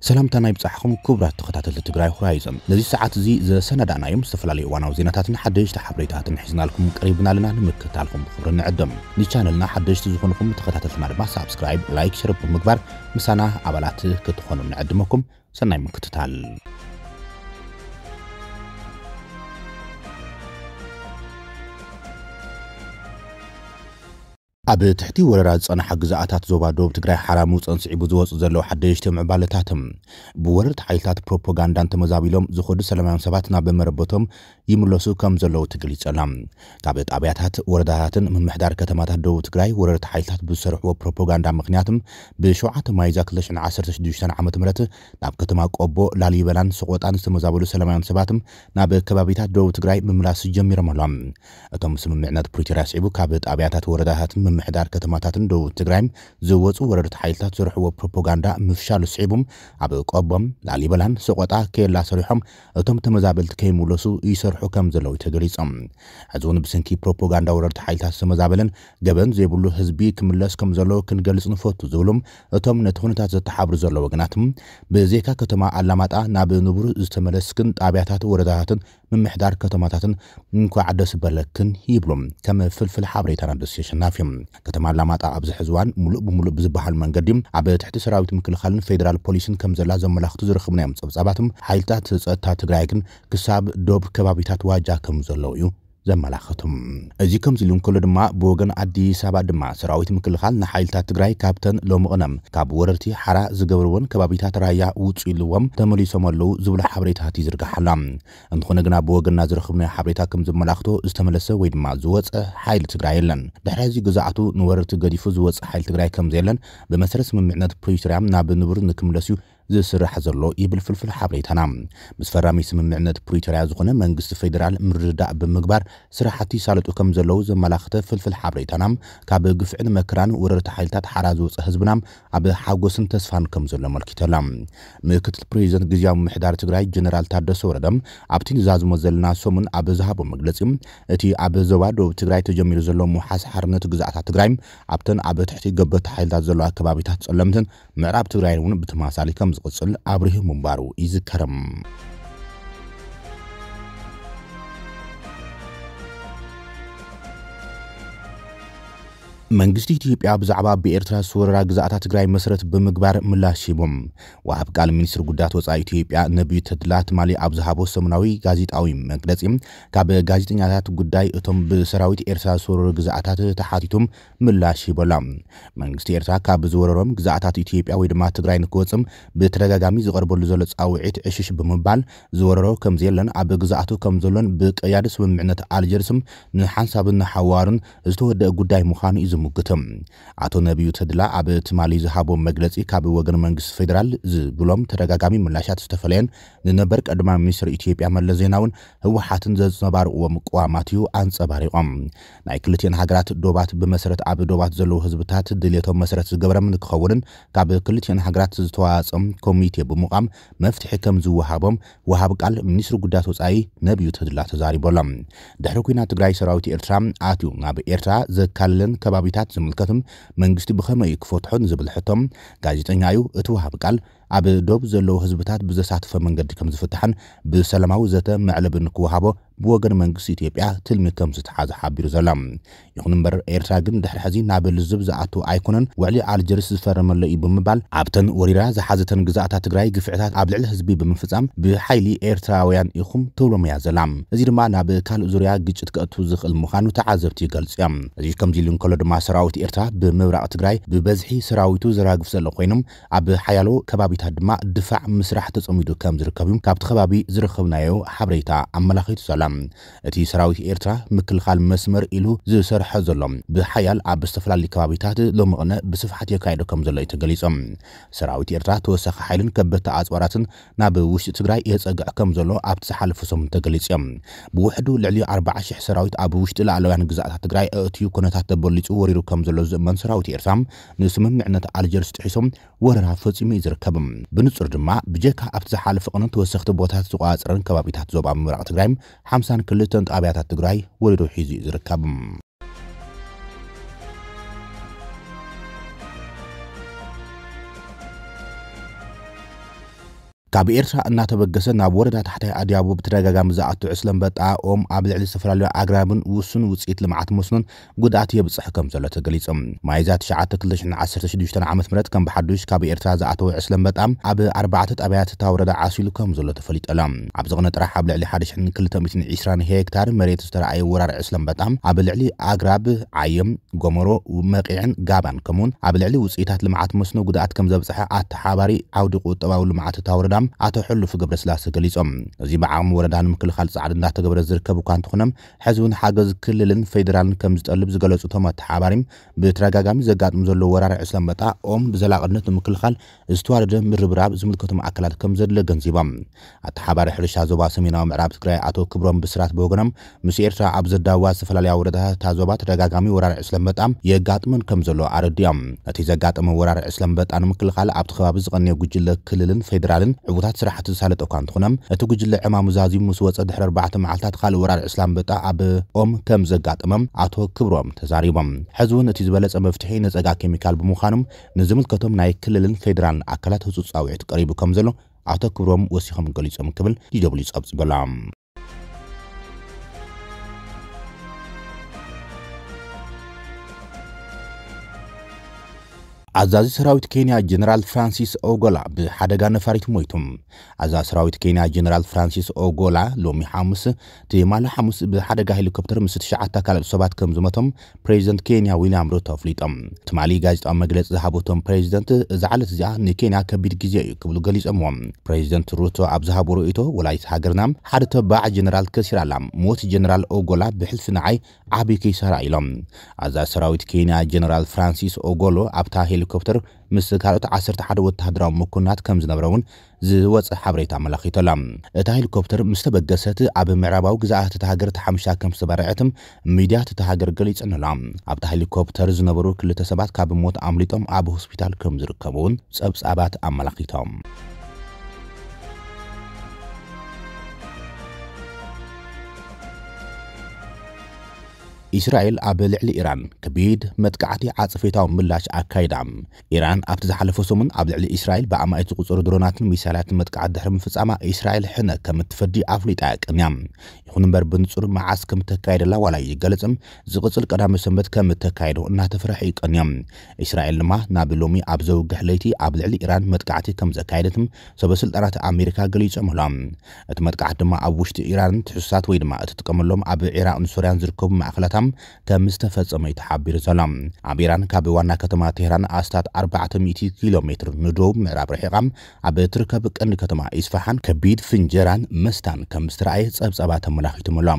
ሰላምታና ይብጻሕኹም ክቡራት ተኸታተልቲ ትግራይ ሆራይዘን። ነዚ ሰዓት እዚ ዘሰናዳእናዮም ዝተፈላለዩ እዋናዊ ዜናታትን ሓደሽቲ ሓበሬታትን ሒዝናልኩም ቀሪብና ኣለና። ንምክትታልኩም ብኽብሪ ንዕድም። ንቻነልና ሓደሽቲ ዝኾንኹም ተኸታተልትና ድማ ሳብስክራይብ፣ ላይክ፣ ሸር ብምግባር ምሳና ኣባላት ክትኾኑ ንዕድመኩም። ሰናይ ምክትታል። ኣብ ትሕቲ ወረራ ዝጸንሓ ግዝኣታት ዞባ ደቡብ ትግራይ ሓራ ምውፀን ስዒቡ ዝወፁ ዘለዉ ሓደሽቲ ምዕባለታትን ብወረርቲ ሓይልታት ፕሮፓጋንዳን ተመዛቢሎም ዝኸዱ ሰላማውያን ሰባት ናብ መረበቶም ይምለሱ ከም ዘለዉ ተገሊጸላ። ካብ ጣብያታት፣ ወረዳታትን ምምሕዳር ከተማታት ደቡብ ትግራይ ወረርቲ ሓይልታት ብዝሰርሕዎ ፕሮፓጋንዳ ምኽንያት ብሸውዓተ ሚያዝያ ክልተ ሽሕን ዓሰርተ ሽዱሽተን ዓመተ ምህረት ናብ ከተማ ቆቦ፣ ላሊበላን ሰቆጣን ዝተመዛበሉ ሰላማውያን ሰባት ናብ ከባቢታት ደቡብ ትግራይ ምምላስ ጀሚሮም ኣለዉ። እቶም ስምምዕነት ፕሪቶርያ ስዒቡ ካብ ጣብያታት፣ ወረዳታትን ምምሕዳር ከተማታትን ደቡብ ትግራይ ዝወፁ ወረርቲ ሓይልታት ዝሰርሕዎ ፕሮፓጋንዳ ምፍሻሉ ስዒቡ ኣብ ቆቦ፣ ላሊበላን ሰቆጣ ኬላ ሰሪሖም እቶም ተመዛበልቲ ከይምለሱ ይሰርሑ ከም ዘለዉ ተገሊጾም። ሕዚ እውን ብሰንኪ ፕሮፓጋንዳ ወረርቲ ሓይልታት ዝተመዛበለን ገበን ዘይብሉ ህዝቢ ክምለስ ከም ዘለዎ ክንገልጽ ንፈቱ ዝብሉ እቶም ነቲ ኩነታት ዘተሓብሩ ዘለዉ ወገናት፣ ብዘይካ ከተማ ኣላማጣ ናብ ንቡር ዝተመለስክን ጣብያታት፣ ወረዳታትን ምምሕዳር ከተማታትን እንኳዕ ደስ በለክን ይብሉ። ከም ፍልፍል ሓበሬታና ደሴ ኣሸናፊ። ከተማ ኣላማጣ ኣብዚ ሕዚ እዋን ሙሉእ ብሙሉእ ብዝበሃል መንገዲ ኣብ ትሕቲ ሰራዊት ምክልኻልን ፌደራል ፖሊስን ከም ዘላ ዘመላኽቱ ዝረኸብናዮም ጸብጻባት፣ ሓይልታት ጸጥታ ትግራይ ግን ክሳብ ዶብ ከባቢታት ዋጃ ከም ዘለዉ እዩ ዘመላኽቱ። እዚ ከምዚ ኢሉ እንከሎ ድማ ብወገን ኣዲስ ኣበባ ድማ ሰራዊት ምክልኻል ንሓይልታት ትግራይ ካብተን ሎሚ ቅነ ካብ ወረርቲ ሓራ ዝገበርወን ከባቢታት ራያ ውፁ ኢልዎም ተመሊሶም ኣለዉ ዝብሉ ሓበሬታት ይዝርጋሕ ኣሎ። እንተኾነ ግና ብወገንና ዝረኸብናዮ ሓበሬታ ከም ዘመላኽቶ ዝተመለሰ ወይ ድማ ዝወፀ ሓይሊ ትግራይ የለን። ድሕሪ እዚ ግዝኣቱ ንወረርቲ ገዲፉ ዝወፀ ሓይሊ ትግራይ ከም ዘየለን ብመሰረት ስምምዕነት ፕሪቶርያ ናብ ንቡር ንክምለስ እዩ ዝስራሕ ዘሎ ይብል ፍልፍል ሓበሬታና። ምስ ፈራሚ ስምምዕነት ፕሪቶርያ ዝኾነ መንግስቲ ፌደራል ምርድዳእ ብምግባር ስራሕቲ ይሳለጡ ከም ዘለዉ ዘመላኽተ ፍልፍል ሓበሬታና፣ ካብ ግፍዕን መከራን ወረርቲ ሓይልታት ሓራ ዝወፀ ህዝብና ኣብ ሓጎስን ተስፋን ከም ዘሎ ኣመልኪተላ። ምክትል ፕሬዚደንት ግዝያዊ ምምሕዳር ትግራይ ጀነራል ታደሰ ወረደ ኣብቲ ንዛዝሞ ዘለና ሰሙን ኣብ ዝሃቦ መግለፂ፣ እቲ ኣብ ዞባ ደቡብ ትግራይ ተጀሚሩ ዘሎ ምውሓስ ሓርነት ግዝኣታት ትግራይ ኣብተን ኣብ ትሕቲ ገበቲ ሓይልታት ዘለዋ ከባቢታት ጸለምትን ምዕራብ ትግራይን እውን ብተመሳሳሊ ከም ዝቕጽል ኣብሪሁ ምንባሩ ይዝከር። መንግስቲ ኢትዮጵያ ብዛዕባ ብኤርትራ ዝተወረራ ግዝኣታት ትግራይ መሰረት ብምግባር ምላሽ ሂቡ። ወሃብ ቃል ሚኒስትሪ ጉዳያት ወጻኢ ኢትዮጵያ ነቢዩ ተድላ ትማሊ ኣብ ዝሃቦ ሰሙናዊ ጋዜጣዊ መግለጺ፣ ካብ ጋዜጠኛታት ጉዳይ እቶም ብሰራዊት ኤርትራ ዝተወረሩ ግዝኣታት ተሓቲቱ ምላሽ ሂቡ ኣሎ። መንግስቲ ኤርትራ ካብ ዝወረሮም ግዝኣታት ኢትዮጵያ ወይ ድማ ትግራይ ንክወጽእ ብተደጋጋሚ ዝቐርበሉ ዘሎ ጻውዒት ዕሽሽ ብምባል ዝወረሮ ከም ዘየለን ኣብ ግዝኣቱ ከም ዘሎን ብቀያዲ ስምምዕነት ኣልጀርስ ንሓንሳብን ንሓዋሩን ዝተወደአ ጉዳይ ምዃኑ እዩ ዝምግት። ኣቶ ነቢዩ ተድላ ኣብ ትማሊ ዝሃቦ መግለጺ ካብ ወገን መንግስቲ ፌደራል ዝብሎም ተደጋጋሚ ምላሻት ዝተፈለየን ንነበር ቀዳማይ ሚኒስትር ኢትዮጵያ መለስ ዜናውን ህወሓትን ዘንጸባርቕዎም ቅዋማት እዩ ኣንጸባሪቖም። ናይ ክልቲኤን ሃገራት ዶባት ብመሰረት ኣብ ዶባት ዘለዉ ህዝብታት ድልየቶም መሰረት ዝገበረ ንክኸውንን ካብ ክልቲኤን ሃገራት ዝተዋጸም ኮሚቴ ብምቋም መፍትሒ ከም ዝወሃቦም ወሃብ ቃል ሚኒስትሪ ጉዳያት ወጻኢ ነቢዩ ተድላ ተዛሪቡ ኣሎ። ድሕሪ ኲናት ትግራይ ሰራዊት ኤርትራ ኣትዩ ናብ ኤርትራ ዘካልለን ከባቢታት ዝምልከትን መንግስቲ ብኸመይ እዩ ክፈትሖ ንዝብል ሕቶ ጋዜጠኛ እዩ እቲ ወሃብ ቃል ኣብ ዶብ ዘለዉ ህዝብታት ብዘሳትፈ መንገዲ ከም ዝፍታሕን ብሰላማዊ ዘተ መዕለቢ ንክወሃቦ ብወገን መንግስቲ ኢትዮጵያ ትልሚ ከም ዝተሓዘ ሓቢሩ ዘሎ። ይኹን እምበር ኤርትራ ግን ድሕሪ ሕዚ ናብ ልዝብ ዝኣቱ ኣይኮነን፣ ውዕሊ ኣልጀርስ ዝፈረመለ እዩ ብምባል ኣብተን ወሪራ ዝሓዘተን ግዝኣታት ትግራይ ግፍዕታት ኣብ ልዕሊ ህዝቢ ብምፍጻም ብሓይሊ ኤርትራውያን ኢኹም ትብሎም እያ ዘላ። እዚ ድማ ናብ ካልእ ዙርያ ግጭት ከእቱ ዝኽእል ምዃኑ ተዓዘብቲ ይገልጹ እዮም። እዚ ከምዚ ኢሉ እንከሎ ድማ ሰራዊት ኤርትራ ብምብራቕ ትግራይ ብበዝሒ ሰራዊቱ ዘራግፍ ዘሎ ኮይኑ ኣብ ሓያሎ ከባቢታት ድማ ድፋዕ ምስራሕ ተጸሚዱ ከም ዝርከብ እዩ ካብቲ ከባቢ ዝረኸብናዮ ሓበሬታ ኣመላኺቱ ዘሎ። እቲ ሰራዊት ኤርትራ ምክልኻል መስመር ኢሉ ዝሰርሖ ዘሎ ብሓያል ኣብ ዝተፈላለዩ ከባቢታት ሎሚ ቅነ ብስፍሓት የካየዶ ከም ዘሎ እዩ ተገሊጹ። ሰራዊት ኤርትራ ተወሳኺ ሓይልን ከበድቲ ኣጽዋራትን ናብ ውሽጢ ትግራይ የጸግዕ ከም ዘሎ ኣብቲ ዝሓለፈ ሰሙን ተገሊጹ እዮም። ብውሕዱ ልዕሊ ኣርባዓ ሽሕ ሰራዊት ኣብ ውሽጢ ላዕለውያን ግዛኣታት ትግራይ ኣእትዩ ኩነታት ተበሊጹ ወሪሩ ከም ዘሎ ዝእመን ሰራዊት ኤርትራ ንስምምዕነት ኣልጀርስ ጥሒሶም ወረራ ፈጺሙ እዩ ዝርከብ። ብንጹር ድማ ብጀካ ኣብቲ ዝሓለፈ ቅነ ተወሰኽቲ ቦታታት ዝተቋጸረን ከባቢታት ዞባ ምብራቕ ትግራይ ሓምሳን ክልተን ጣብያታት ትግራይ ወሪሩ ሒዙ እዩ ዝርከብ። ካብ ኤርትራ እናተበገሰ ናብ ወረዳ ታሕታይ ኣድያቦ ብተደጋጋሚ ዝኣቱ ዕስለ ኣንበጣ ኦም ኣብ ልዕሊ ዝተፈላለዩ ኣግራብን ውሱን ውፅኢት ልምዓት መስኖን ጉድኣት የብፅሕ ከም ዘሎ ተገሊጹ። ሚያዝያ ትሽዓተ ክልተ ሽሕን ዓሰርተ ሽዱሽተን ዓመተ ምህረት ከም ብሓዱሽ ካብ ኤርትራ ዝኣተወ ዕስለ ኣንበጣ ኣብ ኣርባዕተ ጣብያት እታ ወረዳ ዓሲሉ ከም ዘሎ ተፈሊጡ ኣሎ። ኣብዚ ቅነ ጥራሕ ኣብ ልዕሊ ሓደ ሽሕን ክልተ ሚእትን ዕስራን ሄክታር መሬት ዝተረኣየ ወራር ዕስለ ኣንበጣ ኣብ ልዕሊ ኣግራብ ዓየም፣ ጎመሮ፣ መቂዕን ጋባን ከምኡውን ኣብ ልዕሊ ውፅኢታት ልምዓት መስኖ ጉድኣት ከም ዘብፅሐ ኣተሓባሪ ዓውዲ ቁጠባዊ ልምዓት እታ ወረዳ ኣቶ ሕሉፍ ገብረስላሴ ገሊጾም። እዚ ብዓቕሚ ወረዳ ንምክልኻል ጻዕሪ እንዳተገበረ ዝርከብ እኳ እንተኾነ፣ ሕዚ እውን ሓገዝ ክልልን ፌዴራልን ከም ዝጠልብ ዝገለጹ እቶም ኣተሓባሪ፣ ብተደጋጋሚ ዘጋጥም ዘሎ ወራር ዕስለ ኣንበጣ ኦም ብዘላቕነት ንምክልኻል ዝተዋደደ ምርብራብ ዝምልከቶም ኣካላት ከም ዘድለ ገንዚቦም። ኣተሓባሪ ሕርሻ ዞባ ሰሜናዊ ምዕራብ ትግራይ ኣቶ ክብሮም ብስራት ብወገኖም፣ ምስ ኤርትራ ኣብ ዘዳዋ ዝተፈላለያ ወረዳታት እታ ዞባ ተደጋጋሚ ወራር ዕስለ ኣንበጣ የጋጥመን ከም ዘሎ ኣረዲኦም። ነቲ ዘጋጠመ ወራር ዕስለ ኣንበጣ ንምክልኻል ኣብቲ ከባቢ ዝቐነየ ጉጅለ ክልልን ፌዴራልን ዕዉታት ስራሕቲ ዝሳለጠ እኳ እንተኾነ፣ እቲ ጉጅለ ዕማሙ ዛዚሙ ምስ ወፀ ድሕሪ ኣርባዕተ መዓልታት ካልእ ወራር ዕስለ ኣንበጣ ኣብ ኦም ከም ዘጋጠመም ኣቶ ክብሮም ተዛሪቦም። ሕዚ እውን እቲ ዝበለፀ መፍትሒ ነፀጋ ኬሚካል ብምዃኑ፣ ንዝምልከቶም ናይ ክልልን ፌዴራልን ኣካላት ህጹጽ ጻውዒት ቀሪቡ ከም ዘሎ ኣቶ ክብሮም ወሲኾም ገሊጾም ክብል ዲ ደብልዩ ጸብጺቡላ። ኣዛዚ ሰራዊት ኬንያ ጀነራል ፍራንሲስ ኦጎላ ብሓደጋ ነፋሪት ሞይቱ። ኣዛዚ ሰራዊት ኬንያ ጀነራል ፍራንሲስ ኦጎላ ሎሚ ሓሙስ፣ ትማሊ ሓሙስ ብሓደጋ ሄሊኮፕተር ምስ ትሽዓተ ካልኦት ሰባት ከም ዝሞቶም ፕሬዚደንት ኬንያ ዊልያም ሩቶ ኣፍሊጦም። ትማሊ ጋዜጣዊ መግለጺ ዝሃቡ እቶም ፕሬዚደንት፣ እዛ ዕለት እዚኣ ንኬንያ ከቢድ ግዜ እዩ ክብሉ ገሊጾምዎ። ፕሬዚደንት ሩቶ ኣብ ዝሃቡ ርእይቶ፣ ወላዲት ሃገርና ሓደ ተባዕ ጀነራል ከሲራ ኣላ። ሞት ጀነራል ኦጎላ ብሕልፊ ንዓይ ዓቢ ኪሳራ ኢሎም። ኣዛዚ ሰራዊት ኬንያ ጀነራል ፍራንሲስ ኦጎሎ ኣብታ ሄሊኮፕተር ምስ ካልኦት ዓሰርተ ሓደ ወተሃደራዊ መኮንናት ከም ዝነበረ እውን ዝወጸ ሓበሬታ ኣመላኺቱ ኣሎ። እታ ሄሊኮፕተር ምስ ተበገሰት ኣብ ምዕራባዊ ግዝኣት እታ ሃገር ተሓምሻ ከም ዝተባረዐት ሚድያታት እታ ሃገር ገሊጸን ኣሎ። ኣብታ ሄሊኮፕተር ዝነበሩ ክልተ ሰባት ካብ ሞት ኣምሊጦም ኣብ ሆስፒታል ከም ዝርከቡ እውን ጸብጻባት ኣመላኺቶም። እስራኤል ኣብ ልዕሊ ኢራን ከቢድ መጥቃዕቲ ዓጸፌታዊ ምላሽ ኣካይዳ። ኢራን ኣብቲ ዝሓለፈ ሰሙን ኣብ ልዕሊ እስራኤል ብኣማኢት ዝቑጸሩ ድሮናትን ሚሳይላትን መጥቃዕቲ ድሕሪ ምፍጻማ፣ እስራኤል ሕነ ከም እትፈዲ ኣፍሊጣ እያ ቀንያ። ይኹን እምበር፣ ብንጹር መዓስ ከም እተካየደላ ዋላ ኣይገለጸን። ዝቕጽል ቀዳመ ሰንበት ከም እተካየዶ እናተፈርሐ እዩ ቀንያ። እስራኤል ድማ ናብ ሎሚ ኣብ ዘውግሕ ለይቲ ኣብ ልዕሊ ኢራን መጥቃዕቲ ከም ዘካየደትም ሰበ ስልጣናት ኣሜሪካ ገሊጾም ኣለዉ። እቲ መጥቃዕቲ ድማ ኣብ ውሽጢ ኢራን ትሕዝቶታት ወይ ድማ እትጥቀመሎም ኣብ ዒራቕን ሶርያን ዝርከቡ ማእኸላታ ከም ዝተፈጸመ እዩ ተሓቢሩ ዘሎ። ኣብ ኢራን ካብ ዋና ከተማ ቴህራን ኣስታት ኣርባዕተ ሚእቲ ኪሎ ሜትር ንደቡብ ምዕራብ ርሒቓ ኣብ እትርከብ ቀንዲ ከተማ ኢስፋሓን ከቢድ ፍንጀራን መስታን ከም ዝተረኣየ ጸብጻባት ኣመላኺቶም ኣሎ።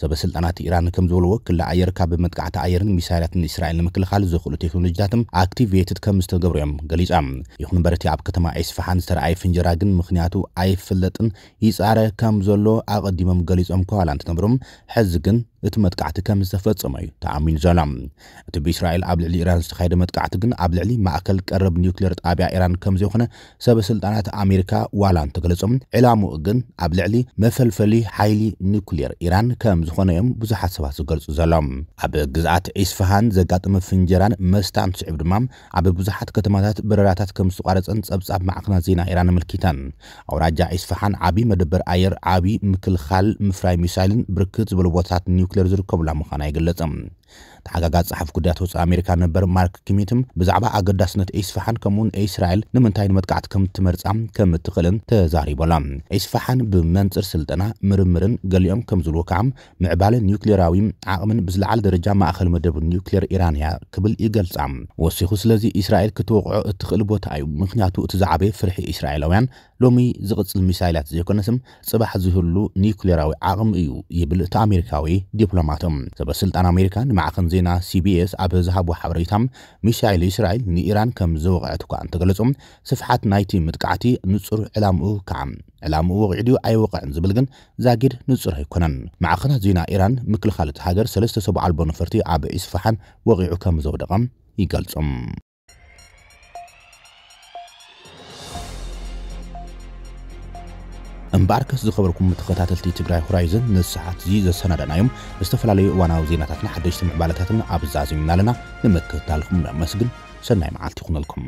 ሰበ ስልጣናት ኢራን ከም ዝበልዎ፣ ክሊ ኣየር ካብ መጥቃዕቲ ኣየርን ሚሳይላትን እስራኤል ንምክልኻል ዘኽእሉ ቴክኖሎጂታትን ኣክቲቬትድ ከም ዝተገብሩ እዮም ገሊጾም። ይኹን እምበር፣ እቲ ኣብ ከተማ ኢስፋሓን ዝተረኣየ ፍንጀራ ግን ምኽንያቱ ኣይፍለጥን፣ ይጻረ ከም ዘሎ ኣቐዲሞም ገሊጾም ከዋላ እንትነብሩ፣ ሕዚ ግን እቲ መጥቃዕቲ ከም ዝተፈጸመ እዩ ተኣሚኑ ዘሎ። እቲ ብእስራኤል ኣብ ልዕሊ ኢራን ዝተኻየደ መጥቃዕቲ ግን ኣብ ልዕሊ ማእከል ቀረብ ኒውክሌር ጣብያ ኢራን ከም ዘይኮነ ሰበ ስልጣናት ኣሜሪካ ዋላ እንተገለጾም፣ ዕላምኡ ግን ኣብ ልዕሊ መፈልፈሊ ሓይሊ ኒውክሌር ኢራን ከም ዝኾነ እዮም ብዙሓት ሰባት ዝገልጹ ዘለዉ። ኣብ ግዝኣት ኢስፋሃን ዘጋጠመ ፍንጀራን መስታን ስዕብ ድማ ኣብ ብዙሓት ከተማታት በረራታት ከም ዝተቋረጸን ጸብጻብ ማዕኸናት ዜና ኢራን ኣመልኪተን። ኣውራጃ ኢስፋሃን ዓቢ መደበር ኣየር፣ ዓቢ ምክልኻል፣ ምፍራይ ሚሳይልን ብርክት ዝበሉ ቦታታት ኒውክሌር ዝርከቡላ ምዃና ይግለጽ። ተሓጋጋዚ ጸሓፊ ጉዳያት ወጻኢ ኣሜሪካ ነበር ማርክ ኪሚትም ብዛዕባ ኣገዳስነት ኢስፋሃን ከምኡውን እስራኤል ንምንታይ ንመጥቃዕቲ ከም እትመርጻ ከም እትኽእልን ተዛሪቡ ኣሎ። ኢስፋሃን ብመንጽር ስልጠና፣ ምርምርን ገሊኦም ከም ዝብልዎ ከዓ ምዕባለ ኒውክሌራዊ ዓቕምን ብዝለዓለ ደረጃ ማእከል መደብ ኒውክሌር ኢራን እያ ክብል ይገልጻ። ወሲኹ፣ ስለዚ እስራኤል ክትወቕዖ እትኽእል ቦታ እዩ፣ ምኽንያቱ እቲ ዝዓበየ ፍርሒ እስራኤላውያን ሎሚ ዝቕጽል ሚሳይላት ዘይኮነስ ጽባሕ ዝህሉ ኒውክሌራዊ ዓቕሚ እዩ ይብል እቲ ኣሜሪካዊ ዲፕሎማት። ሰበ ስልጣን ኣሜሪካ ንማዕኸን ዜና ሲቢኤስ ኣብ ዝሃቦ ሓበሬታ፣ ሚሳይል እስራኤል ንኢራን ከም ዝወቕዐት እኳ እንተገለጹ፣ ስፍሓት ናይቲ ምጥቃዕቲ ንጹር ዕላምኡ ከዓ ዕላምኡ ወቒዑ ድዩ ኣይወቕዕን ዝብል ግን ዛጊድ ንጹር ኣይኮነን። ማዕኸናት ዜና ኢራን ምክልኻል እቲ ሃገር ሰለስተ ሰብ ኣልቦ ነፈርቲ ኣብ ኢስፋሓን ወቒዑ ከም ዘውደቐ ይገልጹ። እምበኣርከስ ዝኸበርኩም ተኸታተልቲ ትግራይ ሆራይዘን፣ ንሰዓት እዚ ዘሰናዳናዮም ዝተፈላለዩ እዋናዊ ዜናታትን ሓደሽቲ ምዕባለታትን ኣብ ዛዚምና ኣለና። ንምክትታልኩም ነመስግን። ሰናይ መዓልቲ ይኹነልኩም።